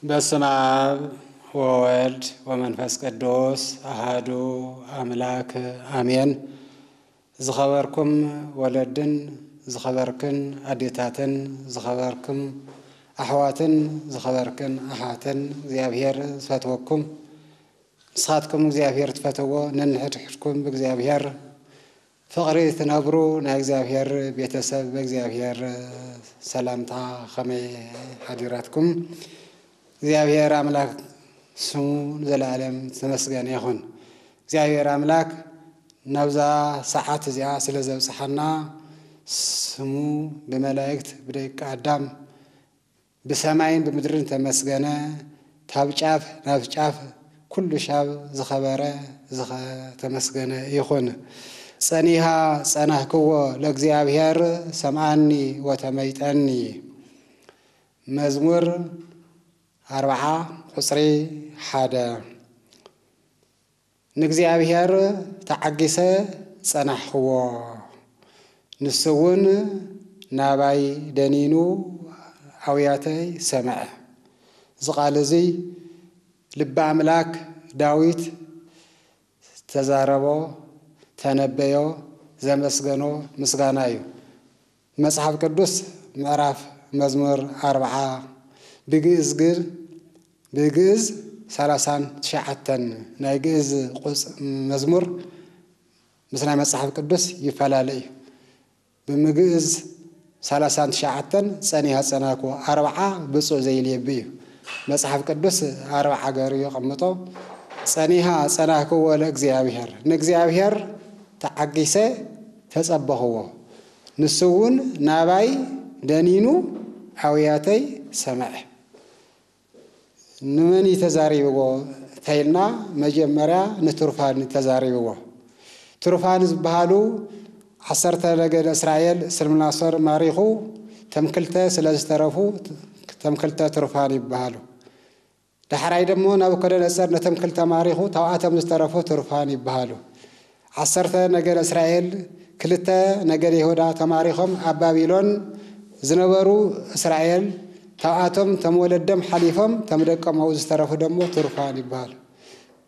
በስመ አብ ወወልድ ወመንፈስ ቅዱስ አሃዱ አምላክ አሜን። ዝኸበርኩም ወለድን፣ ዝኸበርክን ኣዴታትን፣ ዝኸበርኩም ኣሕዋትን፣ ዝኸበርክን ኣሓትን፣ እግዚኣብሔር ዝፈትወኩም፣ ንስኻትኩም እግዚኣብሔር ትፈትዎ፣ ነንሕድሕድኩም ብእግዚኣብሔር ፍቕሪ ትነብሩ ናይ እግዚኣብሔር ቤተሰብ፣ ብእግዚኣብሔር ሰላምታ ከመይ ሓዲራትኩም? እግዚኣብሔር ኣምላክ ስሙ ንዘለኣለም ዝተመስገነ ይኹን። እግዚኣብሔር ኣምላክ ናብዛ ሰዓት እዚኣ ስለ ዘብጽሓና፣ ስሙ ብመላእክት፣ ብደቂ ኣዳም፣ ብሰማይን ብምድርን ተመስገነ። ካብ ጫፍ ናብ ጫፍ ኩሉ ሻብ ዝኸበረ ዝተመስገነ ይኹን። ጸኒሃ ጸናህክዎ ለእግዚኣብሔር፣ ሰምዓኒ ወተመይጠኒ። መዝሙር ኣርብዓ ቁጽሪ ሓደ። ንእግዚኣብሔር ተዓጊሰ ጸናሕክዎ፣ ንሱ እውን ናባይ ደኒኑ ኣውያተይ ሰምዐ። እዚ ቃል እዚ ልበ ኣምላክ ዳዊት ተዛረቦ፣ ተነበዮ፣ ዘመስገኖ ምስጋና እዩ። መጽሓፍ ቅዱስ ምዕራፍ መዝሙር ኣርብዓ ብግእዝ ግን፣ ብግእዝ ሰላሳን ትሽዓተን ናይ ግእዝ ቁጽ-፣ መዝሙር ምስ ናይ መጽሓፍ ቅዱስ ይፈላለ እዩ። ብምግእዝ ሰላሳን ትሽዓተን ጸኒሃ ጸናኩ፣ ኣርብዓ ብጹእ ዘይልየቢ እዩ። መጽሓፍ ቅዱስ ኣርብዓ ገሩ የቐምጦ። ጸኒሃ ጸናኩዎ ለእግዚኣብሔር፣ ንእግዚኣብሔር ተዓጊሰ ተጸበኽዎ፣ ንሱ እውን ናባይ ደኒኑ ኣውያተይ ሰምዐ። ንመን እዩ ተዛሪብዎ ተይልና፣ መጀመርያ ንትሩፋን ተዛሪብዎ። ትሩፋን ዝበሃሉ ዓሰርተ ነገደ እስራኤል ስልምናሶር ማሪኹ፣ ተም ክልተ ስለ ዝተረፉ፣ ተም ክልተ ትሩፋን ይበሃሉ። ዳሕራይ ደሞ ናቡከደነጸር ነቶም ክልተ ማሪኹ፣ ታብኣቶም ዝተረፉ ትሩፋን ይበሃሉ። ዓሰርተ ነገደ እስራኤል፣ ክልተ ነገደ ይሁዳ ተማሪኾም ኣብ ባቢሎን ዝነበሩ እስራኤል፣ ታብኣቶም ተም ወለዶም ሓሊፎም፣ ተም ደቆም ኣብኡ ዝተረፉ ደሞ ትሩፋን ይበሃሉ።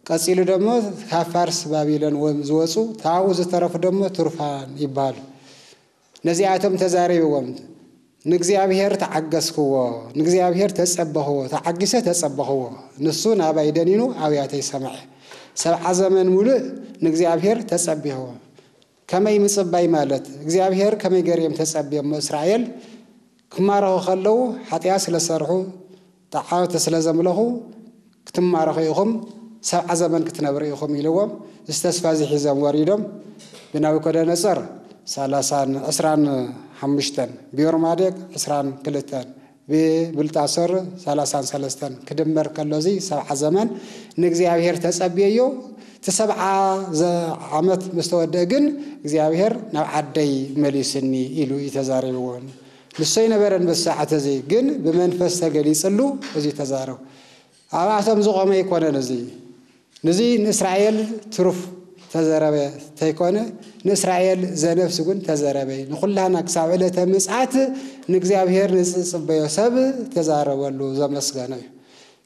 ቀጺሉ ደሞ ካብ ፋርስ ባቢሎን ወም ዝወጹ፣ ታብኡ ዝተረፉ ደሞ ትሩፋን ይበሃሉ። ነዚኣቶም ተዛሪብዎም፣ ንእግዚኣብሔር ተዓገስክዎ፣ ንእግዚኣብሔር ተጸበኽዎ፣ ተዓጊሰ ተጸበኽዎ፣ ንሱ ናባይ ደኒኑ ኣብያተይ ሰምዐ። ሰብዓ ዘመን ሙሉእ ንእግዚኣብሔር ተጸቢኽዎ። ከመይ ምጽባይ ማለት? እግዚኣብሔር ከመይ ገይሮም ተጸብዮሞ? እስራኤል ክማረኹ ከለዉ ሓጢኣት ስለ ዝሰርሑ፣ ጣዖት ስለ ዘምለኹ ክትማረኹ ኢኹም፣ ሰብዓ ዘመን ክትነብሩ ኢኹም ኢልዎም፣ እዚ ተስፋ እዚ ሒዞም ወሪዶም ብናቡከደነጾር ሰላሳን ዕስራን ሓሙሽተን፣ ብዮርማዴቅ ዕስራን ክልተን፣ ብብልጣሶር ሰላሳን ሰለስተን ክድመር ከሎ፣ እዚ ሰብዓ ዘመን ንእግዚኣብሔር ተጸብየዮ። እቲ ሰብዓ ዘ-፣ ዓመት ምስ ተወደአ ግን እግዚኣብሔር ናብ ዓደይ መሊስኒ ኢሉ እዩ ተዛሪብዎ። ንሱ ኣይነበረን በዚ ሰዓት እዚ፣ ግን ብመንፈስ ተገሊጽሉ እዚ ተዛረቡ። ኣብኣቶም ዝቖመ ኣይኮነን እዚ። ንዚ ንእስራኤል ትሩፍ ተዘረበ ተይኮነ፣ ንእስራኤል ዘነፍስ እውን ተዘረበ። ንኹላና ክሳብ ዕለተ ምጽኣት ንእግዚኣብሔር ንዝጽበዮ ሰብ ተዛረበሉ ዘመስገኖ እዩ።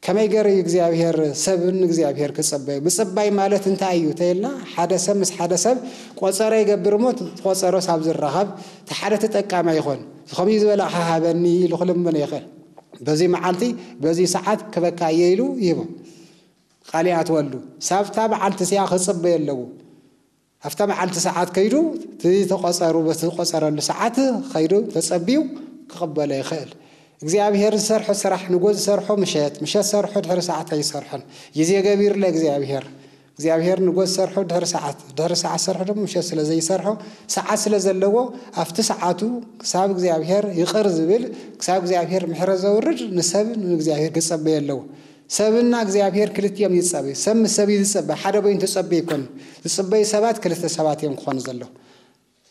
ከመይ ገይሩ እዩ እግዚኣብሔር ሰብ ንእግዚኣብሔር ክጽበዮ? ምጽባይ ማለት እንታይ እዩ ተይልና፣ ሓደ ሰብ ምስ ሓደ ሰብ ቆጸሮ ይገብር እሞ፣ እቲ ቆጸሮስ ኣብ ዝራኸብ፣ እቲ ሓደ ተጠቃማይ ይኾን። ከምኡ ዝበለ ሃበኒ ኢሉ ክልምኖ ይኽእል። በዚ መዓልቲ፣ በዚ ሰዓት ክበካ እየ ኢሉ ይህቦ። ቃል ይኣትወሉ። ሳብታ መዓልቲ እዚኣ ክጽበዮ ኣለዎ። ኣብታ መዓልቲ ሰዓት ከይዱ፣ እቲ ተቆጸሩ፣ በቲ ዝቆጸረሉ ሰዓት ከይዱ ተጸቢዩ ክቕበሎ ይኽእል። እግዚኣብሔር ዝሰርሖ ስራሕ፣ ንጎ ዝሰርሖ ምሸት፣ ምሸት ዝሰርሖ ድሕሪ ሰዓት ኣይሰርሖን። ግዜ ገቢሩ ለእግዚኣብሔር። እግዚኣብሔር ንጎስ ሰርሖ ድሕሪ ሰዓት፣ ድሕሪ ሰዓት ሰርሖ ድማ ምሸት ስለ ዘይሰርሖ፣ ሰዓት ስለ ዘለዎ፣ ኣብቲ ሰዓቱ ክሳብ እግዚኣብሔር ይቕር ዝብል፣ ክሳብ እግዚኣብሔር ምሕረት ዘውርድ፣ ንሰብ ንእግዚኣብሔር ክጸበዮ ኣለዎ። ሰብና እግዚኣብሔር ክልቲኦም ይጸበዩ። ሰብ ምስ ሰብ እዩ ዝጸበ፣ ሓደ በይኑ ተጸበዩ ኣይኮነን። ዝጽበዩ ሰባት ክልተ ሰባት እዮም ክኾኑ ዘለዎም።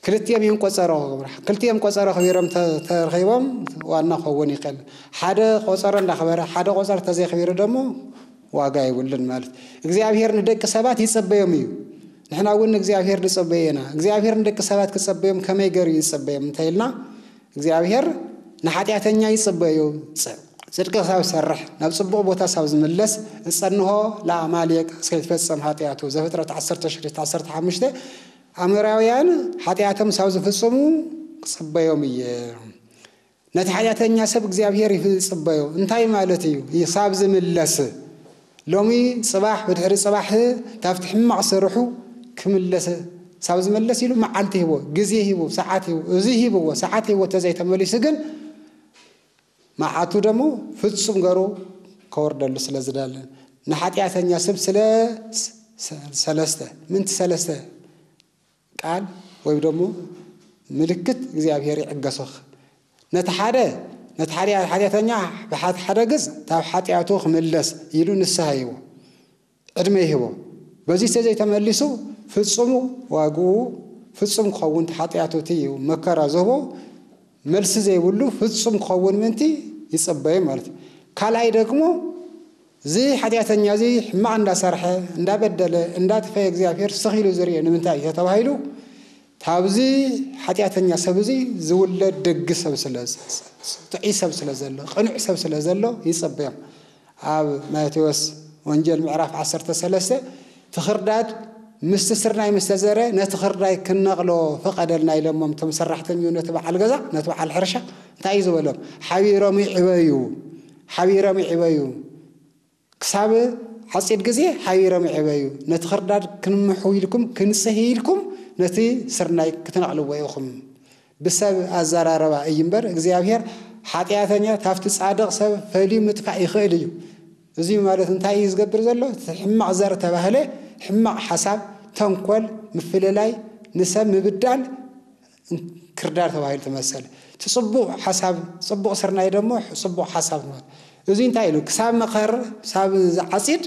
ክልቲኦም እዮም ቆጸሮ ክገብሩ። ክልቲኦም ቆጸሮ ኣኽቢሮም ተ-፣ ተረኺቦም ዋና ክኸውን ይኽእል። ሓደ ቆጸሮ እንዳኽበረ፣ ሓደ ቆጸሮ ተዘይኣኽቢሩ ደሞ ዋጋ የብሉን ማለት። እግዚኣብሔር ንደቂ ሰባት ይጸበዮም እዩ። ንሕና እውን ንእግዚኣብሔር ንጸበዮ ኢና። እግዚኣብሔር ንደቂ ሰባት ክጸበዮም ከመይ ገይሩ ይጸበዮም እንተ ኢልና፣ እግዚኣብሔር ንሓጢኣተኛ ይጸበዮ። ጽ-፣ ጽድቂ ክሳብ ዝሰርሕ፣ ናብ ጽቡቕ ቦታ ክሳብ ዝምለስ፣ እጸንሆ ለኣማሌቅ እስከ ይትፈጸም ሓጢኣቱ። ዘፍጥረት ዓሰርተ ሽዱሽተ ዓሰርተ ሓሙሽተ። ኣሞራውያን ሓጢኣቶም ክሳብ ዝፍጽሙ ክጽበዮም እየ። ነቲ ሓጢኣተኛ ሰብ እግዚኣብሔር ይጽበዮ። እንታይ ማለት እዩ? ክሳብ ዝምለስ። ሎሚ ጽባሕ፣ ብድሕሪ ጽባሕ፣ ካብቲ ሕማቕ ስርሑ ክምለስ፣ ክሳብ ዝመለስ ኢሉ መዓልቲ ሂቦ፣ ግዜ ሂቦ፣ ሰዓት ሂቦ፣ እዚ ሂብዎ፣ ሰዓት ሂቦ ተዘይተመሊሱ ግን መዓቱ ደሞ ፍጹም ገሩ ከወርደሉ ስለ ዝደለ፣ ንሓጢኣተኛ ሰብ ስለ ስ-፣ ሰለስተ፣ ምንቲ ሰለስተ ቃል ወይ ደሞ ምልክት እግዚኣብሔር ይዕገሶ። ነቲ ሓደ፣ ነቲ ሓደ ሓጢኣተኛ ብሓት-፣ ሓደ ግዝ ካብ ሓጢኣቱ ክምለስ ኢሉ ንስሐ ይህቦ፣ ዕድመ ይህቦ። በዚ ተዘይተመሊሱ ፍጹሙ ዋግኡ ፍጹም ክኸውን፣ ሓጢኣቱ እቲ እዩ መከራ ዝህቦ፣ መልሲ ዘይብሉ ፍጹም ክኸውን ምንቲ ይጸበዩ ማለት እዩ። ካልኣይ ደግሞ፣ እዚ ሓጢኣተኛ እዚ ሕማቕ እንዳሰርሐ፣ እንዳበደለ፣ እንዳጥፈየ እግዚኣብሔር ስኽ ኢሉ ዝርእዮ ንምንታይ እዩ ተባሂሉ፣ ካብዚ ሓጢኣተኛ ሰብ እዚ ዝውለድ ደግ ሰብ ስለ፣ ጥዑይ ሰብ ስለ ዘሎ፣ ቅኑዕ ሰብ ስለ ዘሎ ይጸበዮም። ኣብ ማቴዎስ ወንጌል ምዕራፍ ዓሰርተ ሰለስተ፣ እቲ ኽርዳድ ምስቲ ስርናይ ምስ ተዘረ፣ ነቲ ኽርዳድ ክንነቕሎ ፍቐደልና ኢሎሞም፣ እቶም ሰራሕተኛኡ ነቲ በዓል ገዛ፣ ነቲ በዓል ሕርሻ እንታይ እዩ ዝበሎም? ሓቢሮም ይዕበዩ፣ ሓቢሮም ይዕበዩ። ክሳብ ዓጺድ ግዜ ሓቢሮም ይዕበዩ። ነቲ ኽርዳድ ክንምሑ ኢልኩም፣ ክንጽሂ ኢልኩም፣ ነቲ ስርናይ ክትነቕልዎ ኢኹም። ብሰብ ኣዘራረባ እዩ እምበር፣ እግዚኣብሔር ሓጢኣተኛ ካብቲ ጻድቕ ሰብ ፈልዩ ምጥፋእ ይኽእል እዩ። እዚ ማለት እንታይ እዩ ዝገብር ዘሎ? እቲ ሕማቕ ዘር ተባህለ፣ ሕማቕ ሓሳብ፣ ተንኮል፣ ምፍልላይ፣ ንሰብ ምብዳል፣ ክርዳድ ተባሂሉ ተመሰለ። እቲ ጽቡቕ ሓሳብ፣ ጽቡቕ ስርናይ ደሞ ጽቡቕ ሓሳብ ማለት። እዚ እንታይ ኢሉ? ክሳብ መኸር፣ ክሳብ ዝዓጺድ፣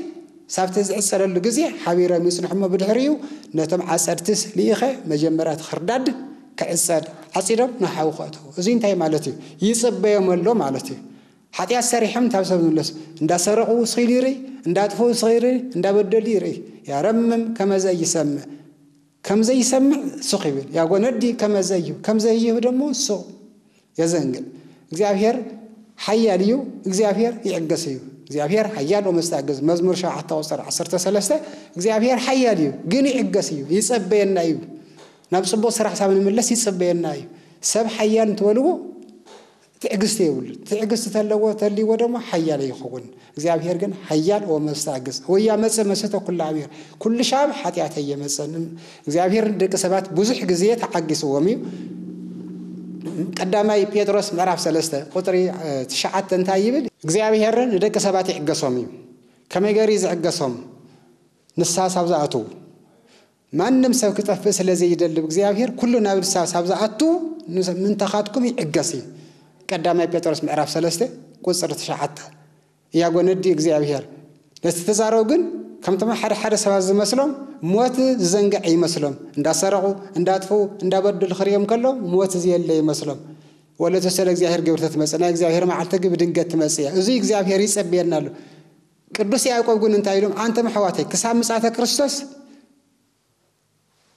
ክሳብቲ ዝዕጸደሉ ግዜ ሓቢሮም ይጽንሑ እሞ፣ ብድሕሪኡ ነቶም ዓጸድትስ ልኢኸ መጀመርያ እቲ ኽርዳድ ክዕጸድ፣ ዓጺዶም ንሓዊ ከእተዉ። እዚ እንታይ ማለት እዩ? ይጽበዮም ኣሎ ማለት እዩ። ሓጢኣት ሰሪሖም እንታብ ሰብ ዝምለሱ፣ እንዳሰረቑ ስኺሉ ይርኢ፣ እንዳጥፍኡ ስኺሉ ይርኢ፣ እንዳበደሉ ይርኢ። ያረምም ከመዘ ይሰምዕ፣ ከም ዘይሰምዕ ሱቕ ይብል፣ ያጎነዲ ከመ ዘይህብ፣ ከም ዘይህብ ደሞ ሱቕ የዘንግዕ። እግዚኣብሔር ሓያል እዩ፣ እግዚኣብሔር ይዕገስ እዩ። እግዚኣብሔር ሓያል ወመስተዕግስ፣ መዝሙር ሸውዓተ ቁጽሪ ዓሰርተ ሰለስተ። እግዚኣብሔር ሓያል እዩ፣ ግን ይዕገስ እዩ፣ ይጸበየና እዩ። ናብ ጽቡቕ ስራሕ ሳብ ንምለስ ይጸበየና እዩ። ሰብ ሓያል እንትበልዎ ትዕግስቲ የብሉን። ትዕግስቲ ተለዎ፣ ተልይዎ ደሞ ሓያል ይኸውን። እግዚኣብሔር ግን ሓያል ወመስተዕግስ። ወያመጽእ መስሕቶ ኩሉ ኣሚር። ኩሉ ሻብ ሓጢኣተይ የመጸን። እግዚኣብሔር ንደቂ ሰባት ብዙሕ ግዜ ተዓጊስዎም እዩ። ቀዳማይ ጴጥሮስ ምዕራፍ ሰለስተ ቁጽሪ፣ እ፣ ትሽዓተ እንታይ ይብል? እግዚኣብሔር ንደቂ ሰባት ይዕገሶም እዩ። ከመይ ገይሩ እዩ ዝዕገሶም? ንስሓ ሳብ ዝኣትዉ። ማንም ሰብ ክጠፍእ ስለ ዘይደልብ እግዚኣብሔር ኩሉ ናብ ንስሓ ሳብ ዝኣቱ ንስ-፣ ምንታኻትኩም ይዕገስ እዩ። ቀዳማይ ጴጥሮስ ምዕራፍ ሰለስተ ቁጽሪ ትሽዓተ። ያጎነዲ እግዚኣብሔር ነቲ ተዛረቡ ግን ከምቶም ሓደ ሓደ ሰባት ዝመስሎም ሞት ዝዘንግዐ ይመስሎም። እንዳሰረቑ፣ እንዳጥፍኡ፣ እንዳበደሉ ክርእዮም ከሎ ሞት ዝየለ ይመስሎም። ወለተ ስለ እግዚኣብሔር ግብር ተትመጽእ፣ ናይ እግዚኣብሔር መዓልቲ ግን ብድንገት ትመጽእ እያ። እዚ እግዚኣብሔር ይጸብየና ኣሎ። ቅዱስ ያዕቆብ ግን እንታይ ኢሎም? ኣንተም ኣሕዋተይ ክሳብ ምጽኣተ ክርስቶስ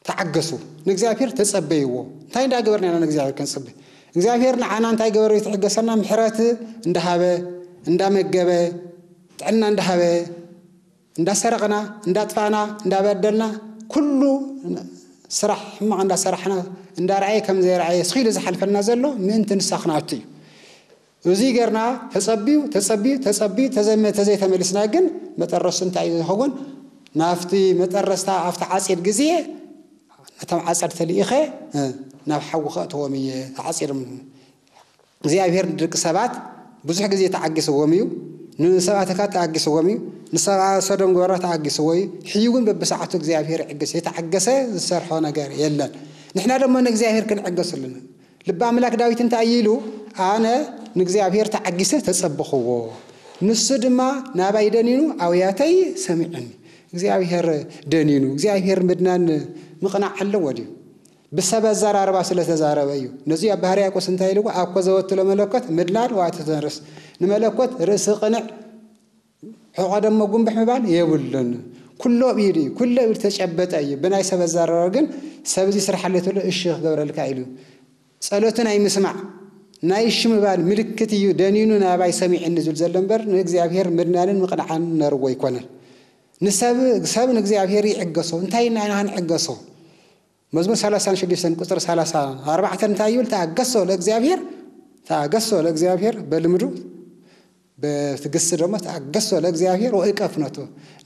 ተዓገሱ፣ ንእግዚኣብሔር ተጸበይዎ። እንታይ እንዳገበርና ኢና ንእግዚኣብሔር ክንጽበ? እግዚኣብሔር ንዓና እንታይ ገበረ? ይትዕገሰና፣ ምሕረት እንዳሃበ፣ እንዳመገበ፣ ጥዕና እንዳሃበ፣ እንዳሰረቕና፣ እንዳጥፋና፣ እንዳበደልና፣ ኩሉ ስራሕ ሕማቕ እንዳሰራሕና፣ እንዳረኣየ ከም ዘይረኣየ ስኺሉ ዝሓልፈልና ዘሎ ምእንቲ ንስኻ ክንኣቱ እዩ። እዚ ገርና ተጸብዩ፣ ተጸብዩ፣ ተጸብዩ፣ ተዘመ-፣ ተዘይተመሊስና ግን መጠረሱ እንታይ እዩ ዝኸውን? ናብቲ መጠረስታ፣ ኣብቲ ዓጺድ ግዜ ነቶም ዓጸድ ተልኢኸ፣ እ፣ ናብ ሓዊ ከእትዎም እየ፣ ተዓጺዶም። እግዚኣብሔር ንደቂ ሰባት ብዙሕ ግዜ ተዓጊስዎም እዩ። ንሰብኣተካ ተኣጊስዎም እዩ፣ ንሰብኣ ሰዶም ግበራ ተኣጊስዎ እዩ። ሕዩ ግን በብሰዓቱ እግዚኣብሔር ይዕግስ። የተዓገሰ ዝሰርሖ ነገር የለን። ንሕና ደሞ ንእግዚኣብሔር ክንዕገስ ኣለና። ልቢ ኣምላክ ዳዊት እንታይ እዩ ኢሉ? ኣነ ንእግዚኣብሔር ተዓጊሰ ተጸበኽዎ፣ ንሱ ድማ ናባይ ደኒኑ ኣውያተይ ሰሚዑኒ። እግዚኣብሔር ደኒኑ፣ እግዚኣብሔር ምድናን ምቕናዕ ኣለዎ ድዩ? ብሰብ ኣዘራርባ ስለ ተዛረበ እዩ። ነዚ ኣብ ባህርያቆስ እንታይ ኢልዎ? ኣኮ ዘወትሎ መለኮት ምድናን ዋእቲ ተንርስ፣ ንመለኮት ርእሲ ቅንዕ ሕቖ ደሞ ጉንብሕ ምባል የብሉን። ኩሎ ብኢዱ እዩ፣ ኩሎ ብኢዱ ተጨበጠ እዩ። ብናይ ሰብ ኣዘራርባ ግን ሰብ እዚ ስርሓለይ ተሎ እሺ ክገብረልካ ኢሉ። ጸሎቱ ናይ ምስማዕ ናይ እሺ ምባል ምልክት እዩ። ደኒኑ ናባይ ሰሚዕኒ ዝብል ዘሎ እምበር ንእግዚኣብሔር ምድናንን ምቕንዓን ነርዎ ኣይኮነን። ንሰብ ሰብ ንእግዚኣብሔር ይዕገሶ። እንታይ ኢና ኢና ክንዕገሶ? መዝሙር ሰላሳን ሽዱሽተን ቁጽሪ ሰላሳ ኣርባዕተ እንታይ ይብል? ተኣገሶ ለእግዚኣብሔር፣ ተኣገሶ ለእግዚኣብሔር በልምዱ በትዕግስቲ ደሞ ተኣገሶ ለእግዚኣብሔር ወእቀፍ ነቱ።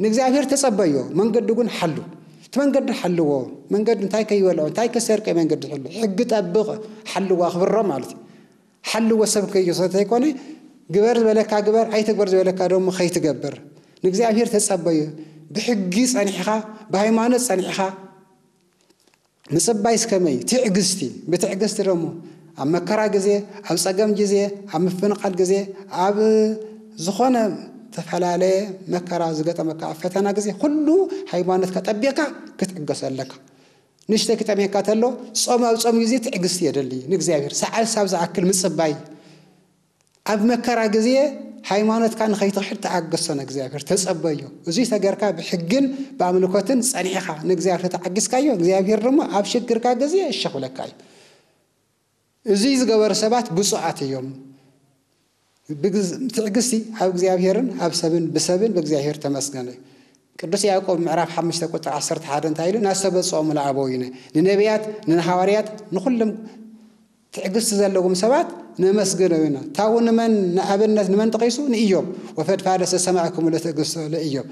ንእግዚኣብሔር ተጸበዮ፣ መንገዱ ግን ሓሉ። እቲ መንገዲ ሓልዎ። መንገዲ እንታይ ከይበልዖ እንታይ ከሰርቀ መንገዲ ሕሉ። ሕጊ ጠብቕ፣ ሓልዎ ኣኽብሮ ማለት እዩ። ሓልዎ ሰብ ከይሰተ ይኮነ፣ ግበር ዝበለካ ግበር፣ ኣይትግበር ዝበለካ ደሞ ከይትገብር። ንእግዚኣብሔር ተጸበዮ። ብሕጊ ጸኒሕኻ፣ ብሃይማኖት ጸኒሕኻ፣ ምጽባይስ ከመይ? ትዕግስቲ። ብትዕግስቲ ደሞ ኣብ መከራ ግዜ፣ ኣብ ጸገም ግዜ፣ ኣብ ምፍንቓል ግዜ፣ ኣብ ዝኾነ ተፈላለየ መከራ ዝገጠመካ ኣብ ፈተና ግዜ፣ ኩሉ ሃይማኖትካ ጠቢቕካ ክትዕገሶ ኣለካ። ንእሽተይ ክጠምየካ ተሎ፣ ጾም ኣብ ጾም ግዜ ትዕግስቲ የደሊ። ንእግዚኣብሔር ሰዓት ሳብ ዝኣክል ምጽባይ። ኣብ መከራ ግዜ ሃይማኖትካ ንኸይትኽሕድ ተኣገሶ ንእግዚኣብሔር፣ ተጸበዮ። እዙይ ተገርካ ብሕግን ብኣምልኮትን ጸኒሕኻ ንእግዚኣብሔር ተዓጊስካዮ፣ እግዚኣብሔር ድማ ኣብ ሽግርካ ግዜ እሺ ክብለካ እዩ። እዙይ ዝገበሩ ሰባት ብፁዓት እዮም። ብግዝ-፣ ትዕግስቲ ኣብ እግዚኣብሔርን ኣብ ሰብን ብሰብን ብእግዚኣብሔር ተመስገነ እዩ። ቅዱስ ያዕቆብ ምዕራፍ ሓሙሽተ ቁጥሪ ዓሰርተ ሓደ እንታይ ኢሉ? ናስተበጽኦሙ ለአበዊነ፣ ንነቢያት፣ ንሃዋርያት፣ ንኹሎም ትዕግስቲ ዘለዎም ሰባት ነመስግኖም ኢና። ታቡ ንመን ንኣብነት ንመን ጠቒሱ? ንኢዮብ። ወፈድፋደሰ ሰማዕክሙ ለትዕግስቶ ለኢዮብ።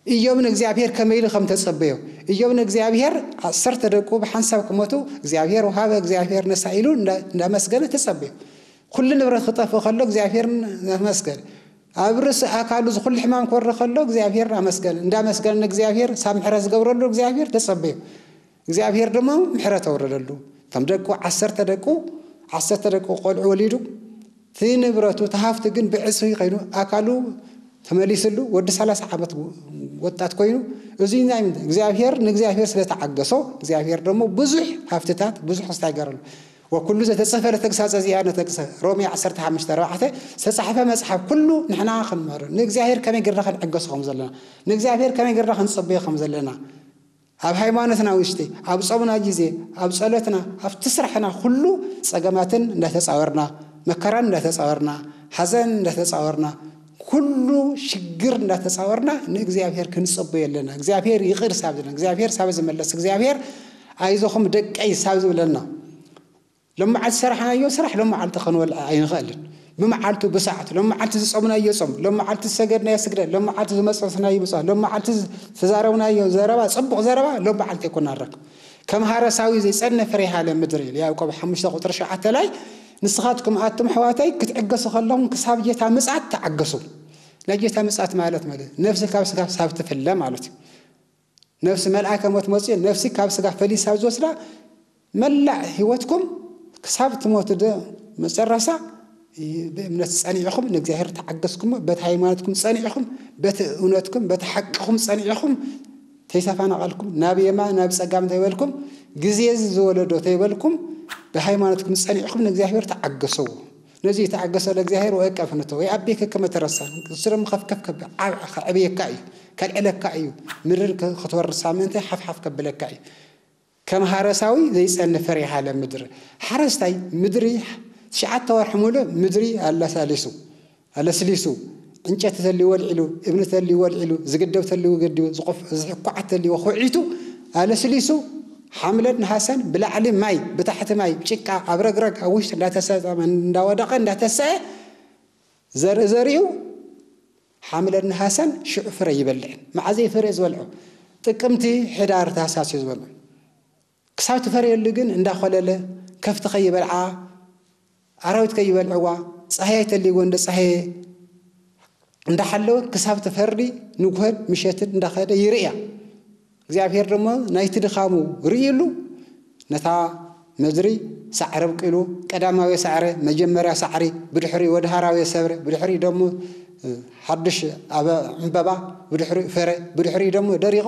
ኢዮብ ንእግዚኣብሔር ከመይ ኢሉ ከም ተጸበዮ። ኢዮብ ንእግዚኣብሔር ዓሰርተ ደቁ ብሓንሳብ ክሞቱ እግዚኣብሔር ወሃበ፣ እግዚኣብሔር ነሳ ኢሉ እንዳ-፣ እንዳመስገነ ተጸበዮ። ኩሉ ንብረት ክጠፍእ ከሎ እግዚኣብሔር ነመስገን። ኣብ ርእሲ ኣካሉ ዝኹሉ ሕማም ክወርድ ከሎ እግዚኣብሔር ኣመስገን። እንዳመስገነ ንእግዚኣብሔር ሳብ ምሕረት ዝገብረሉ እግዚኣብሔር ተጸበዮ። እግዚኣብሔር ድማ ምሕረት ኣውረደሉ። ከም ደቁ ዓሰርተ ደቁ፣ ዓሰርተ ደቁ ቆልዑ ወሊዱ፣ እቲ ንብረቱ፣ እቲ ሃፍቲ ግን ብዕጽፊ ከይኑ ኣካሉ ተመሊስሉ፣ ወዲ ሰላሳ ዓመት ወጣት ኮይኑ፣ እዙይ ናይ ምንታይ? እግዚኣብሔር ንእግዚኣብሔር ስለ ተዓገሶ፣ እግዚኣብሔር ደግሞ ብዙሕ ሃፍትታት፣ ብዙሕ ክስታይ ገረሉ። ወኩሉ ዘተጽሕፈ ለተግሳጸ ዚአነ ተግሰ፣ ሮሜ ዓሰርተ ሓሙሽተ ኣርባዕተ፣ ዝተጻሕፈ መጽሓፍ ኩሉ ንሕና ክንመሃሮ፣ ንእግዚኣብሔር ከመይ ጌርና ክንዕገሶ ከም ዘለና፣ ንእግዚኣብሔር ከመይ ጌርና ክንጽበዮ ከም ዘለና፣ ኣብ ሃይማኖትና ውሽጢ፣ ኣብ ጾምና ግዜ፣ ኣብ ጸሎትና፣ ኣብቲ ስራሕና ኩሉ ጸገማትን እንዳተጻወርና፣ መከራን እንዳተጻወርና፣ ሓዘን እንዳተጻወርና፣ ኩሉ ሽግር እንዳተጻወርና ንእግዚኣብሔር ክንጽበዮ ኣለና። እግዚኣብሔር ይቕር ሳብ ዝብለና፣ እግዚኣብሔር ሳብ ዝመለስ፣ እግዚኣብሔር ኣይዞኹም ደቀይ ሳብ ዝብለና፣ ሎም መዓልቲ ዝሰራሕናዮ ስራሕ ሎም መዓልቲ ክንበልዕ ኣይንኽእልን። ብመዓልቱ ብሰዓቱ፣ ሎም መዓልቲ ዝጾምናዮ ጾም፣ ሎም መዓልቲ ዝሰገድናዮ ስግደት፣ ሎም መዓልቲ ዝመጸስናዮ ምጽዋት፣ ሎም መዓልቲ ዝተዛረብናዮ ዘረባ፣ ጽቡቕ ዘረባ ሎም መዓልቲ ኣይኮና ንረክብ። ከም ሃረሳዊ ዘይጸነ ፍሬሃ ለምድር ኢሉ ያዕቆብ ሓሙሽተ ቁጥሪ ሸውዓተ ላይ፣ ንስኻትኩም ኣቱም ኣሕዋተይ ክትዕገሱ ከለኹም ክሳብ ጌታ ምጽኣት ተዓገሱ። ናይ ጌታ ምጽኣት ማለት ማለት ነፍሲ ካብ ስጋ ሳብ ትፍለ ማለት እዩ። ነፍሲ መልኣከ ሞት መፅኡ ነፍሲ ካብ ስጋ ፈሊሳ ኣብ ዝወስዳ መላእ ህይወትኩም ክሳብ ትሞቱ ዶ መጨረሻ ብእምነት ጸኒዕኹም ንእግዚኣብሔር ተዓገስኩሞ፣ በቲ ሃይማኖትኩም ጸኒዕኹም፣ በቲ እውነትኩም፣ በቲ ሓቅኹም ጸኒዕኹም ተይተፈናቐልኩም፣ ናብ የማን ናብ ጸጋም ተይበልኩም፣ ግዜ እዚ ዝወለዶ ተይበልኩም፣ ብሃይማኖትኩም ጸኒዕኹም ንእግዚኣብሔር ተዓገስዎ። ነዚ የተዓገሰ ለእግዚኣብሔር ወእቀፍ ንቶ ወይ ኣቤከ ከመ ተረሳ፣ እሱ ደግሞ ከፍከፍ ከብ-፣ ዓብ-፣ ከዕብየካ እዩ፣ ከልዕለካ እዩ፣ ምድር ከ-፣ ክትወርሳ ምእንቲ ሓፍሓፍ ከብለካ እዩ። ከም ሃረሳዊ ዘይጸንፍ ፍሬሃ ለምድር። ሓረስታይ ምድሪ ትሽዓተ ወርሒ ሙሉእ ምድሪ ኣለሳሊሱ፣ ኣለስሊሱ፣ ዕንጨቲ ተልይዎ ኣልዒሉ፣ እምኒ ተልይዎ ኣልዒሉ፣ ዝግደብ ተልይዎ ገዲቡ፣ ዝቆፍ-፣ ዝሕኳዓት ተልይዎ ኹዒቱ፣ ኣለስሊሱ፣ ሓምለን ነሃሰን ብላዕሊ ማይ፣ ብታሕቲ ማይ፣ ጭቃ፣ ኣብ ረግረግ፣ ኣብ ውሽጢ እንዳተሰጠመ፣ እንዳወደቐ፣ እንዳተሰአ፣ ዘርኢ ዘሪኡ፣ ሓምለን ነሃሰን ሽዑ ፍረ ይበልዕን። መዓዘ እዩ ፍረ ዝበልዖ? ጥቅምቲ፣ ሕዳር፣ ታህሳስ እዩ ዝበልዖ። ክሳብ ትፈርየሉ ግን እንዳኾለለ፣ ከፍቲ ከይበልዓ፣ ኣራዊት ከይበልዕዋ፣ ጻህያይ ተልይዎ እንደ ጻህየ፣ እንዳሓለወ ክሳብ ትፈርዲ ንጉሆን ምሸትን እንዳኸደ ይርእያ። እግዚኣብሔር ድማ ናይቲ ድኻሙ ርእይሉ ነታ ምድሪ ሳዕሪ ኣብቂሉ፣ ቀዳማዊ ሳዕሪ፣ መጀመርያ ሳዕሪ፣ ብድሕሪኡ ወድሃራዊ ሰብሪ፣ ብድሕሪኡ ደሞ ሓድሽ ኣበ ዕምበባ፣ ብድሕሪኡ ፍረ፣ ብድሕሪኡ ደሞ ደሪቑ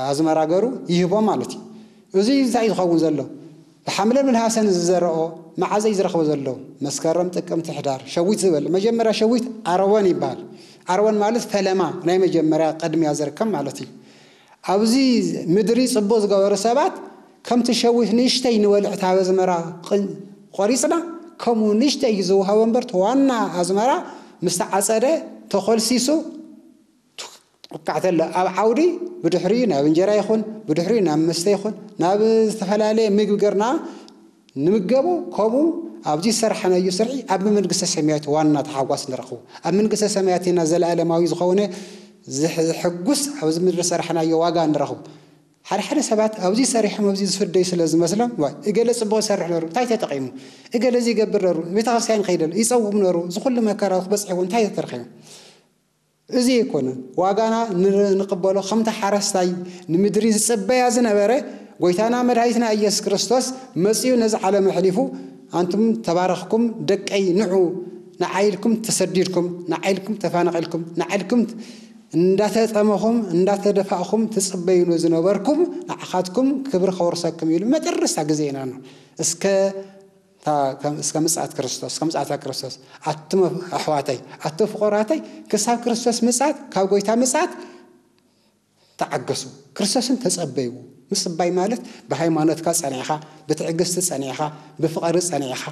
ኣዝመራ ገሩ ይህቦ ማለት እዩ። እዚ እንታይ እዩ ዝኸውን ዘሎ? ብሓምለን ብነሃሰን ዝዘረኦ መዓዘ እዩ ዝረኽቦ ዘሎ? መስከረም፣ ጥቅምቲ፣ ሕዳር፣ ሸዊት ዝበል። መጀመርያ ሸዊት ዓረቦን ይበሃል። ዓረቦን ማለት ፈለማ ናይ መጀመርያ ቅድሚያ ዝርከብ ማለት እዩ። ኣብዚ ምድሪ ጽቡቕ ዝገበሩ ሰባት ከምቲ ሸዊት ንእሽተይ ንበልዕ እቲ ኣዝመራ ቕ-፣ ቆሪጽና ከምኡ ንእሽተይ እዩ ዝወሃቦ እምበር እቲ ዋና ኣዝመራ ምስ ተዓጸደ ተኾልሲሱ ትውቃዕ ተሎ ኣብ ዓውዲ ብድሕሪኡ ናብ እንጀራ ይኹን ብድሕሪኡ ናብ መስተ ይኹን ናብ ዝተፈላለየ ምግቢ ገርና ንምገቡ። ከምኡ ኣብዚ ዝሰራሕናዮ ስርሒ ኣብ መንግስተ ሰማያት ዋና ተሓጓስ ንረኽቡ። ኣብ መንግስተ ሰማያት ኢና ዘለኣለማዊ ዝኾነ ዝሕ-፣ ዝሕጉስ ኣብዚ ምድሪ ዝሰራሕናዮ ዋጋ ንረኽቡ። ሓደ ሓደ ሰባት ኣብዚ ሰሪሖም ኣብዚ ዝፍደዩ ስለ ዝመስሎም፣ "ዋይ፣ እገለ ጽቡቕ ይሰርሕ ነሩ፣ እንታይ ተጠቒሙ? እገለ እዚ ይገብር ነሩ፣ ቤተክርስትያን ይኸይድ ነሩ፣ ይጸውም ነሩ፣ ዝኹሉ መከራ ክበጽሕዎ እንታይ ተረኺቡ?" እዚ ኣይኮነን። ዋጋና ን-፣ ንቕበሎ ከምቲ ሓረስታይ ንምድሪ ዝጽበያ ዝነበረ፣ ጎይታና መድሃኒትና ኢየሱስ ክርስቶስ መጺኡ ነዚ ዓለም ኣሕሊፉ፣ "ኣንቱም ተባረኽኩም ደቀይ ንዑ፣ ንዓይ ኢልኩም ተሰዲድኩም፣ ንዓይ ኢልኩም ተፋነቒልኩም፣ ንዓይ ኢልኩም እንዳተጠመኹም፣ እንዳተደፋእኹም ትጽበዩሉ ዝነበርኩም ንዓኻትኩም ክብሪ ከወርሰኩም" ኢሉ መጨረስታ ግዜ ኢና ነው። እስከ እታ ከም-፣ እስከ ምጽኣት ክርስቶስ፣ እስከ ምጽኣታ ክርስቶስ፣ ኣቱም ኣሕዋተይ፣ ኣቱም ፍቑራተይ፣ ክሳብ ክርስቶስ ምጽኣት፣ ካብ ጎይታ ምጽኣት ተዓገሱ። ክርስቶስን ተጸበይዎ። ምጽባይ ማለት ብሃይማኖትካ ጸኒዕኻ፣ ብትዕግስቲ ጸኒዕኻ፣ ብፍቕሪ ጸኒዕኻ፣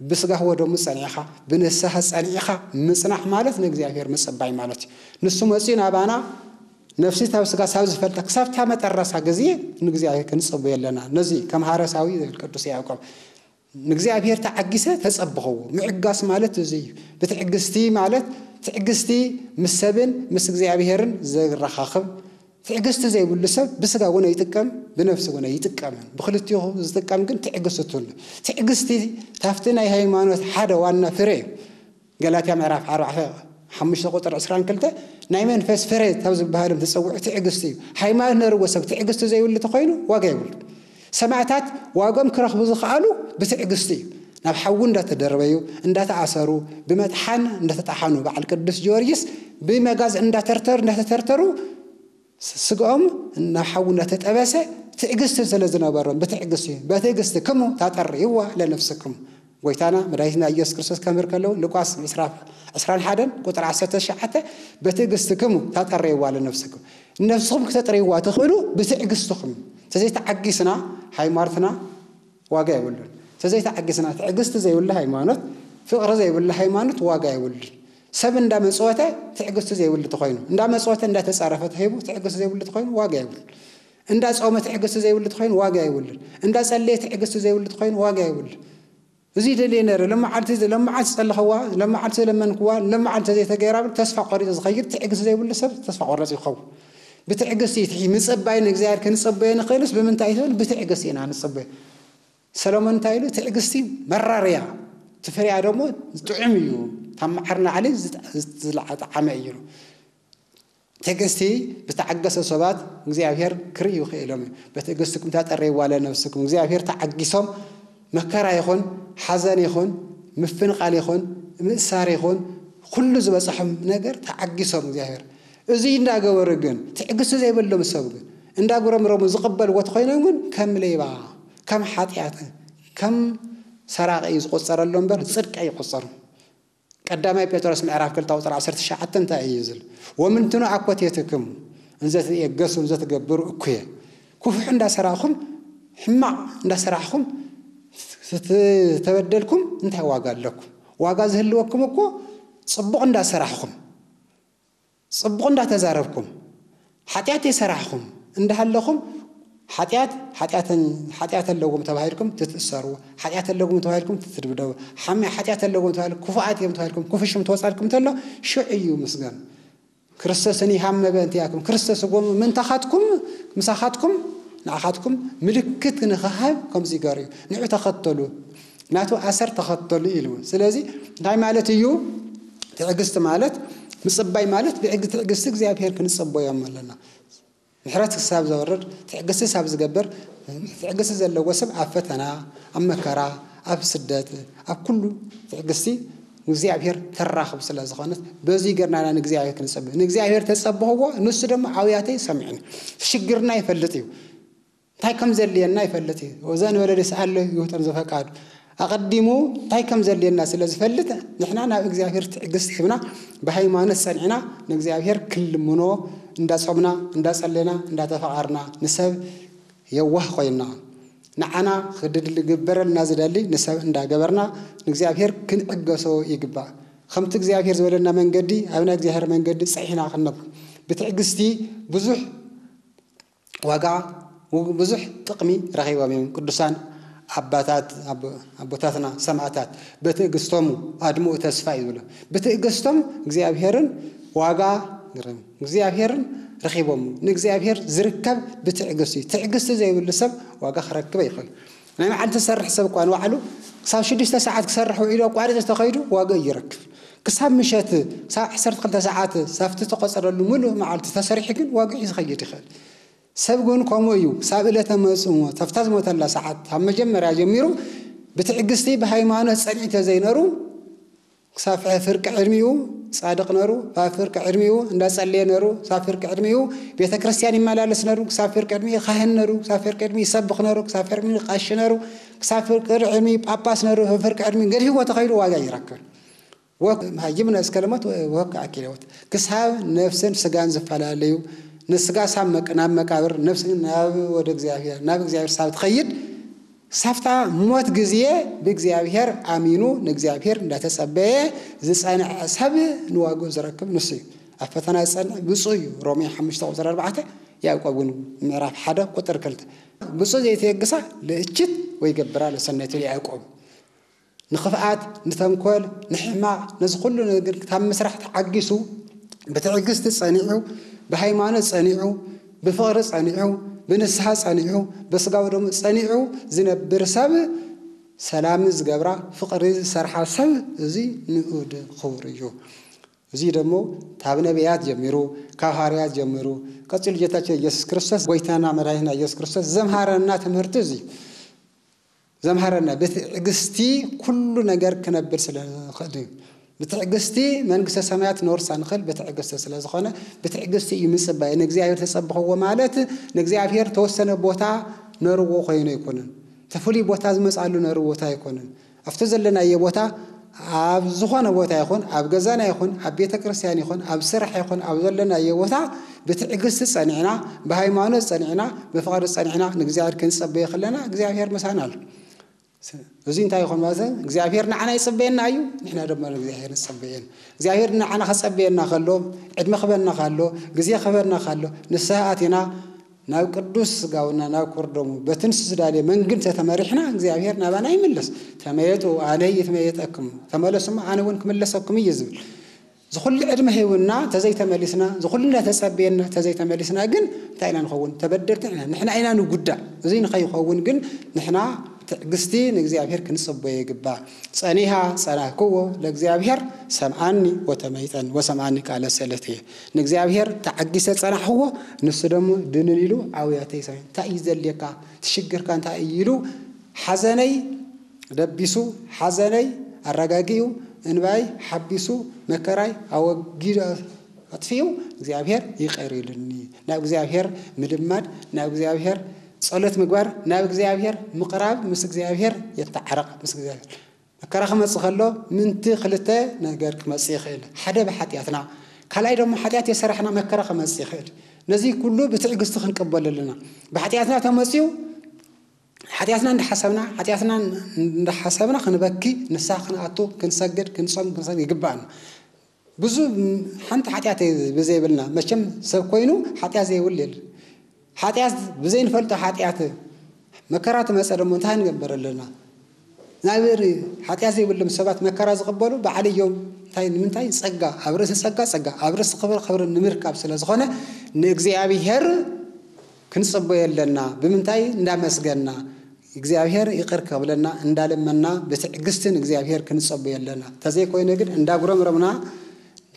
ብስጋ ወደሙ ጸኒዕኻ፣ ብንስሓ ጸኒዕኻ ምጽናሕ ማለት ንእግዚኣብሔር ምጽባይ ማለት እዩ። ንሱ መጺኡ ናባና ነፍሲ ካብ ስጋ ሳብ ዝፈልጣ ክሳብ እታ መጠረሳ ግዜ ንእግዚኣብሔር ክንጽበዮ ኣለና። ነዚ ከም ሃረሳዊ ዝብል ቅዱስ ያዕቆብ ንእግዚኣብሔር ተዓጊሰ ተጸብኸዎ። ምዕጋስ ማለት እዚ እዩ። ብትዕግስቲ ማለት ትዕግስቲ ምስ ሰብን ምስ እግዚኣብሔርን ዘራኻኽብ፣ ትዕግስቲ ዘይብሉ ሰብ ብስጋ እውን ኣይጥቀም፣ ብነፍሲ እውን ኣይጥቀምን። ብክልቲኡ ዝጥቀም ግን ትዕግስቲ ትህሉ። ትዕግስቲ ታፍቲ ናይ ሃይማኖት ሓደ ዋና ፍረ እዩ። ገላትያ ምዕራፍ ኣርባዕተ ሓሙሽተ ቁጥር ዕስራን ክልተ ናይ መንፈስ ፍረ ካብ ዝበሃሎም ተጸውዑ ትዕግስቲ እዩ። ሃይማኖት ነርዎ ሰብ ትዕግስቲ ዘይብሉ ተኾይኑ ዋጋ የብሉ። ሰማዕታት ዋጎም ክረኽቡ ዝኸኣሉ ብትዕግስቲ እዩ። ናብ ሓዊ እንዳተደርበዩ፣ እንዳተኣሰሩ፣ ብመጥሓን እንዳተጣሓኑ፣ በዓል ቅዱስ ጊዮርጊስ ብመጋዝ እንዳተርተሩ፣ እንዳተተርተሩ፣ ስ-፣ ስግኦም ናብ ሓዊ እንዳተጠበሰ ትዕግስቲ ስለ ዝነበሮም ብትዕግስቲ፣ "በትዕግስቲ ክሙ ታጠርይዋ ለነፍስክሙ።" ጎይታና መድኃኒትና ኢየሱስ ክርስቶስ ከምህር ከለዉ ሉቃስ ዕስራ፣ ዕስራን ሓደን ቁጥሪ ዓሰርተ ትሽዓተ፣ "በትዕግስቲ ክሙ ታጠርይዋ ለነፍስክሙ።" ነፍስኹም ክተጥርይዋ ትኽእሉ ብትዕግስትኹም። እንተዘይተዓጊስና ሃይማኖትና ዋጋ የብሉን። እንተዘይተዓጊስና ትዕግስቲ ዘይብሉ ሃይማኖት፣ ፍቕሪ ዘይብሉ ሃይማኖት ዋጋ የብሉን። ሰብ እንዳመጽወተ ትዕግስቲ ዘይብሉ ተኾይኑ፣ እንዳመጽወተ እንዳተጻረፈ ተሂቡ ትዕግስቲ ዘይብሉ ተኾይኑ ዋጋ የብሉን። እንዳጾመ ትዕግስቲ ዘይብሉ ተኾይኑ ዋጋ የብሉን። እንዳጸለየ ትዕግስቲ ዘይብሉ ተኾይኑ ዋጋ የብሉን። እዚ ደልየ ነይረ፣ ለመዓልቲ፣ ለመዓልቲ ዝጸለኽዋ፣ ለመዓልቲ ዝለመንክዋ፣ ለመዓልቲ ዘይተገይራ ብል ተስፋ ቆሪጹ ዝኸይድ ትዕግስቲ ዘይብሉ ሰብ ተስፋ ቆራጺ ይኸውን። ብትዕግስቲ እቲ ምጽባይ ንእግዚኣብሔር ክንጽበዮ ንኽእልስ ብምንታይ እዩ ትብል? ብትዕግስቲ ኢና ንጽበዮ። ሰሎሞን እንታይ ኢሉ? ትዕግስቲ መራር እያ፣ እቲ ፍሬኣ ደግሞ ጥዑም እዩ፣ ካብ መዓር ንላዕሊ ዝጥ-፣ ዝለዓ-፣ ጠዓመ እዩ ኢሉ። ትዕግስቲ ዝተዓገሰ ሰባት እግዚኣብሔር ክርእዩ ክኢሎም እዩ። በትዕግስትኩም ታጠርይዋ ለነፍስኩም። እግዚኣብሔር ተዓጊሶም መከራ ይኹን፣ ሓዘን ይኹን፣ ምፍንቓል ይኹን፣ ምእሳር ይኹን፣ ኩሉ ዝበጽሖም ነገር ተዓጊሶም እግዚኣብሔር። እዚ እንዳገበሩ ግን፣ ትዕግስቲ ዘይብሎም ሰብ ግን፣ እንዳጉረምረሙ ዝቕበልዎ ተኾይኖም ግን፣ ከም ሌባ፣ ከም ሓጢኣት፣ ከም ሰራቒ እዩ ዝቑጸረሎም እምበር፣ ጽድቂ ኣይቑጸሩን። ቀዳማይ ጴጥሮስ ምዕራፍ ክልተ ቁጽሪ ዓሰርተ ትሽዓተ እንታይ እዩ ዝብል? "ወምንትኑ ኣኮቴትክሙ እንዘ ትየገሱ እንዘ ትገብሩ እኩየ።" ክፉሕ እንዳሰራሕኹም፣ ሕማቕ እንዳሰራሕኹም፣ ዝተበደልኩም እንታይ ዋጋ ኣለኩም? ዋጋ ዝህልወኩም እኮ ጽቡቕ እንዳሰራሕኹም፣ ጽቡቕ እንዳተዛረብኩም፣ ሓጢኣት የሰራሕኹም እንዳሃለኹም፣ ሓጢኣት፣ ሓጢኣተን-፣ ሓጢኣት ኣለዎም ተባሂልኩም ትትእሰሩ፣ ሓጢኣት ኣለዎም ተባሂልኩም ትትድብደቡ፣ ሓሚ-፣ ሓጢኣት ኣለዎም ተባሂልኩም፣ ክፉኣት እዮም ተባሂልኩም፣ ክፉእ ሽም ተወጻልኩም ተሎ፣ ሽዑ እዩ ምስጋን። ክርስቶስኒ ሃመ በእንቲኣኩም፣ ክርስቶስ እጎም ምንታኻትኩም፣ ምሳኻትኩም፣ ንኣኻትኩም ምልክት ንኽሃብ ከምዚ ይገር እዩ። ንዑ ተኸተሉ፣ ናቱ ኣሰር ተኸተሉ ኢሉ። ስለዚ እንታይ ማለት እዩ? ትዕግስቲ ማለት ምጽባይ ማለት ብሕጊ ትዕግስቲ እግዚኣብሔር ክንጸበዮም ኣለና። ምሕረት ክሳብ ዘወርድ ትዕግስቲ ሳብ ዝገብር ትዕግስቲ ዘለዎ ሰብ ኣብ ፈተና፣ ኣብ መከራ፣ ኣብ ስደት፣ ኣብ ኩሉ ትዕግስቲ እግዚኣብሔር ተራኽብ ስለ ዝኾነት በዚ ገርናና ንእግዚኣብሔር ክንጸበ ንእግዚኣብሔር ተጸበኽዎ። ንሱ ድማ ኣውያተይ ሰሚዕኒ። ሽግርና ይፈልጥ እዩ። እንታይ ከም ዘድልየና ይፈልጥ እዩ። ወዘን ወለደ ሰኣሎ ይውጠን ዘፈቃዱ ኣቐዲሙ እንታይ ከም ዘድልየና ስለ ዝፈልጥ ንሕና ናብ እግዚኣብሔር ትዕግስቲ ሂብና ብሃይማኖት ጸኒዕና ንእግዚኣብሔር ክንልምኖ እንዳጾምና እንዳጸለና እንዳተፈቓርና ንሰብ የዋህ ኮይና ንዓና ክድል ግበረልና ዝደሊ ንሰብ እንዳገበርና ንእግዚኣብሔር ክንዕገሶ ይግባእ። ከምቲ እግዚኣብሔር ዝበለና መንገዲ ኣብ ናይ እግዚኣብሔር መንገዲ ጸሒና ክንነብ ብትዕግስቲ ብዙሕ ዋጋ ብዙሕ ጥቕሚ ረኺቦም እዮም። ቅዱሳን ኣባታት ኣቦታትና ሰማእታት በትዕግስቶም ኣድምኡ ተስፋ እዩ ዝብሎ። ብትዕግስቶም እግዚኣብሔርን ዋጋ እግዚኣብሔርን ረኺቦም። ንእግዚኣብሔር ዝርከብ ብትዕግስቲ እዩ። ትዕግስቲ ዘይብሉ ሰብ ዋጋ ክረክብ ኣይኽእል። ናይ መዓልቲ ዝሰርሕ ሰብ እኳ ንባዕሉ ክሳብ ሽዱሽተ ሰዓት ክሰርሕ ውዒሉ ኣቋሪፁ ተኸይዱ ዋጋ ይረክብ። ክሳብ ምሸት ክሳብ ዓሰርተ ክልተ ሰዓት ሳብቲ ተቆፀረሉ ሙሉእ መዓልቲ ተሰሪሑ ግን ዋጋ ዝኸይድ ይኽእል። ሰብ ግን ከምኡ እዩ። ክሳብ ዕለተ መጽእሞ ተፍታ ዝሞተላ ሰዓት ካብ መጀመርያ ጀሚሩ ብትዕግስቲ ብሃይማኖት ጸኒዑ ተዘይነሩ ክሳብ ፍርቂ ዕድሚኡ ጻድቕ ነሩ፣ ክሳብ ፍርቂ ዕድሚኡ እንዳጸለየ ነሩ፣ ክሳብ ፍርቂ ዕድሚኡ ቤተ ክርስቲያን ይመላለስ ነሩ፣ ክሳብ ፍርቂ ዕድሚኡ ካህን ነሩ፣ ክሳብ ፍርቂ ዕድሚኡ ይሰብኽ ነሩ፣ ክሳብ ፍርቂ ዕድሚኡ ቀሺ ነሩ፣ ክሳብ ፍርቂ ዕድሚኡ ጳጳስ ነሩ፣ ፍርቂ ዕድሚኡ ገዲፍዎ ተኸይዱ ዋጋ ይረክብ። ወክ መሃይምነ እስከ ለሞት ወክ ኣኪለዎት ክሳብ ነፍስን ስጋን ዝፈላለዩ ንስጋ ሳብ መቅ ናብ መቃብር ነፍስ ናብ ወደ እግዚኣብሔር ናብ እግዚኣብሔር ሳብ ትኸይድ ሳፍታ ሞት ግዜ ብእግዚኣብሔር ኣሚኑ ንእግዚኣብሔር እንዳተጸበየ ዝጸንዐ ሰብ ንዋግኡ ዝረክብ ንሱ እዩ። ኣብ ፈተና ዝጸንዕ ብፁዕ እዩ። ሮሜ ሓሙሽተ ቁጽሪ ኣርባዕተ ያዕቆብ ግን ምዕራፍ ሓደ ቁጥሪ ክልተ ብፁዕ ዘይተየግሳ ልእችት ወይ ገብራ ለሰናይቱ ያዕቆብ ንኽፍኣት ንተንኮል ንሕማቕ ነዚ ኩሉ ነገር ካብ ምስራሕ ተዓጊሱ ብትዕግስቲ ጸኒዑ ብሃይማኖት ጸኒዑ ብፍቕሪ ጸኒዑ ብንስሓ ጸኒዑ ብስጋዊ ደሙ ጸኒዑ ዝነብር ሰብ ሰላም ዝገብራ ፍቕሪ ዝሰርሓ ሰብ እዚ ንኡድ ክቡር እዩ። እዚ ደሞ ካብ ነቢያት ጀሚሩ ካብ ሃዋርያት ጀሚሩ ቀጺሉ ጌታችን ኢየሱስ ክርስቶስ ጎይታና መድኃኒትና ኢየሱስ ክርስቶስ ዘምሃረና ትምህርቲ እዚ ዘምሃረና ብትዕግስቲ ኩሉ ነገር ክነብር ስለ ንኽእል እዩ። ብትዕግስቲ መንግስተ ሰማያት ንወርሳ ንኽእል ብትዕግስቲ ስለ ዝኾነ ብትዕግስቲ እዩ ምጽባይ። ንእግዚኣብሔር ተጸብኽዎ ማለት ንእግዚኣብሔር ተወሰነ ቦታ ነርዎ ኮይኑ ኣይኮነን። ተፍሉይ ቦታ ዝመጽኣሉ ነርዎ ቦታ ኣይኮነን። ኣብቲ ዘለናዮ ቦታ ኣብ ዝኾነ ቦታ ይኹን ኣብ ገዛና ይኹን ኣብ ቤተ ክርስቲያን ይኹን ኣብ ስራሕ ይኹን ኣብ ዘለናዮ ቦታ ብትዕግስቲ ጸኒዕና ብሃይማኖት ጸኒዕና ብፍቕሪ ጸኒዕና ንእግዚኣብሔር ክንጸበዮ ከለና እግዚኣብሔር ምሳና ኣሎ። እዚ እንታይ ይኾን ማለት እግዚኣብሔር ንዓና ይጸበየና እዩ። ንሕና ድማ ንእግዚኣብሔር ንጸበየን እግዚኣብሔር ንዓና ከጸበየና ከሎ ዕድመ ክበና ካሎ ግዜ ክበና ካሎ ንስሓ ኣቲና ናብ ቅዱስ ስጋውና ናብ ክርደሙ በትንስ ዝዳልየ መንግን ተተመሪሕና እግዚኣብሔር ናባና ይምለስ። ተመየጡ ኣነ ይትመየጠኩም ተመለሱማ ኣነ እውን ክምለሰኩም እዩ ዝብል። ዝኹሉ ዕድመ ሂቡና ተዘይተመሊስና ዝኹሉ እንዳተጸበየና ተዘይተመሊስና ግን እንታይ ኢና ንኸውን? ተበደልቲ ኢና። ንሕና ኢና ንጉዳእ። እዚ ንኸይኸውን ግን ንሕና ትዕግስቲ ንእግዚኣብሔር ክንጽበዮ ይግባእ። ጸኒሃ ጸናህክዎ ለእግዚኣብሔር ሰምዓኒ ወተመይጠን ወሰምዓኒ ቃለ ሰለት እየ። ንእግዚኣብሔር ተዓጊሰ ጸናሕዎ ንሱ ደሞ ድንን ኢሉ ኣውያተይ ሰ እንታይ እዩ ዘልየካ ትሽግርካ እንታይ እዩ ኢሉ ሓዘነይ ደቢሱ ሓዘነይ ኣረጋጊኡ እንባይ ሓቢሱ መከራይ ኣወጊዱ ኣጥፊኡ እግዚኣብሔር ይቕር ኢሉኒ። ናብ እግዚኣብሔር ምልማድ ናብ እግዚኣብሔር ጸሎት ምግባር ናብ እግዚኣብሔር ምቕራብ ምስ እግዚኣብሔር የተዓረቕ ምስ እግዚኣብሔር መከራ ክመጽእ ከሎ ምንቲ ክልተ ነገር ክመጽእ ይኽእል። ሓደ ብሓጢኣትና ካልኣይ ደሞ ሓጢኣት የሰራሕና መከራ ክመጽእ ይኽእል። ነዚ ኩሉ ብትዕግስቲ ክንቀበሎ ኣለና። ብሓጢኣትና ተመጽዩ ሓጢኣትና እንዳሓሰብና ሓጢኣትና እንዳሓሰብና ክንበኪ ንስሓ ክንኣቱ ክንሰግድ ክንጾም ክንሰግድ ይግባኣና። ብዙ ሓንቲ ሓጢኣት ብዘይብልና መቸም ሰብ ኮይኑ ሓጢኣት ዘይብል የለ። ሓጢኣት ብዘይንፈልጦ ሓጢኣት መከራ ትመፀ ደሞ እንታይ ንገበር ኣለና? ናብር ሓጢኣት ዘይብሎም ሰባት መከራ ዝቕበሉ ባዕል እዮም። እንታይ ንምንታይ? ፀጋ ኣብ ርእሲ ፀጋ ፀጋ ኣብ ርእሲ ክብር ክብሪ ንምርካብ ስለ ዝኾነ ንእግዚኣብሔር ክንጽበዮ ኣለና። ብምንታይ? እንዳመስገንና እግዚኣብሔር ይቕር ከብለና እንዳለመንና ብትዕግስቲ ንእግዚኣብሔር ክንጸበዮ ኣለና። እንተዘይኮይኑ ግን እንዳጉረምረምና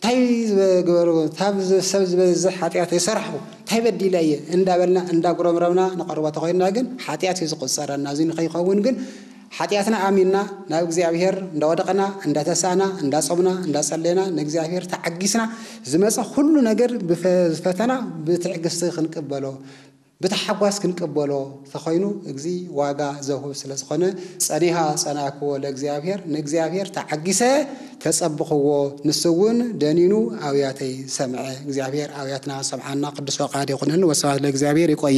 እንታይ ዝበገበሩ፣ ታብ ሰብ ዝበዝሕ ሓጢኣት የሰራሕኹ፣ እንታይ በዲለ እየ እንዳበልና እንዳጉረምረምና ንቐርቦ ተኾይንና ግን ሓጢኣት እዩ ዝቑጸረና። እዚ ንኸይኸውን ግን ሓጢኣትና ኣሚንና ናብ እግዚኣብሔር እንዳወደቕና እንዳተሳእና እንዳጾምና እንዳጸለና ንእግዚኣብሔር ተዓጊስና ዝመጸ ኩሉ ነገር ብፈ- ፈተና ብትዕግስቲ ክንቅበሎ፣ ብታሓጓስ ክንቅበሎ ተኾይኑ፣ እዚ ዋጋ ዘውህብ ስለ ዝኾነ፣ ጸኒሃ ጸናክዎ ለእግዚኣብሔር፣ ንእግዚኣብሔር ተዓጊሰ ተጸብኽዎ፣ ንሱ እውን ደኒኑ ኣውያተይ ሰምዐ። እግዚኣብሔር ኣውያትና ሰምዓና ቅዱስ ፈቃድ ይኹንን። ወስብሐት ለእግዚኣብሔር። ይቆየ።